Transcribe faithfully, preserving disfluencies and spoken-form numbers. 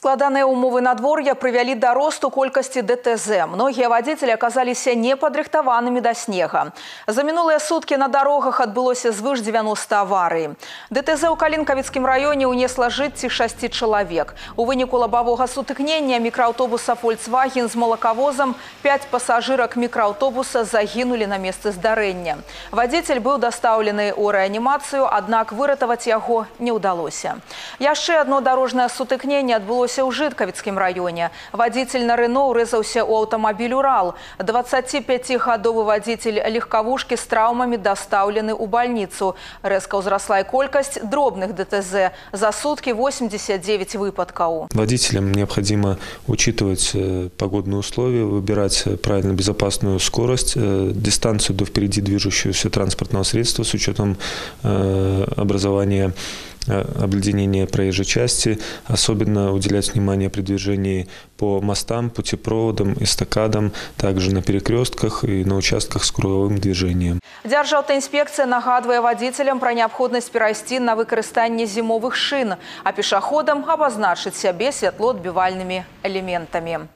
Складаныя ўмовы надвор'я прывялі да росту колькасці дэ тэ зэ. Многія вадзіцелі аказаліся непадрыхтаванымі да снега. За мінулыя суткі на дарогах адбылося звыш дзевяноста аварый. дэ тэ зэ ў Калінкавіцкім раёне ўнесла жыцці шасці чалавек. У выніку лабавога сутыкнення мікрааўтобуса «Фольксваген» з малакавозам пяць пасажырак мікрааўтобуса загінулі на месцы здарэння. Вадзіцель быў дастаўлены ў рэанімацыю, аднак выратаваць яго не ўдалося. Яшчэ адно дарожнае сутыкненне адбылося ў Жыткавіцкім раёне. Вадзіцель на Рэно ўрэзаўся ў аўтамабіль «Урал». дваццаціпяцігадовы вадзіцель легкавушкі з траўмамі дастаўлены ў бальніцу. Рэзка ўзрасла і колькасць дробных дэ тэ зэ. За сутки восемьдесят девять выпадков. Водителям необходимо учитывать погодные условия, выбирать правильно безопасную скорость, дистанцию до впереди движущегося транспортного средства с учетом образования обледенения проезжей части, особенно уделять внимание при движении по мостам, путепроводам, эстакадам, также на перекрестках и на участках с круговым движением. Дзяржаўтаінспекцыя нагадвае вадзіцелям пра неабходнасць перайсці на выкарыстанне зімовых шын, а пешаходам абазначыць сябе святлоадбівальнымі элементамі.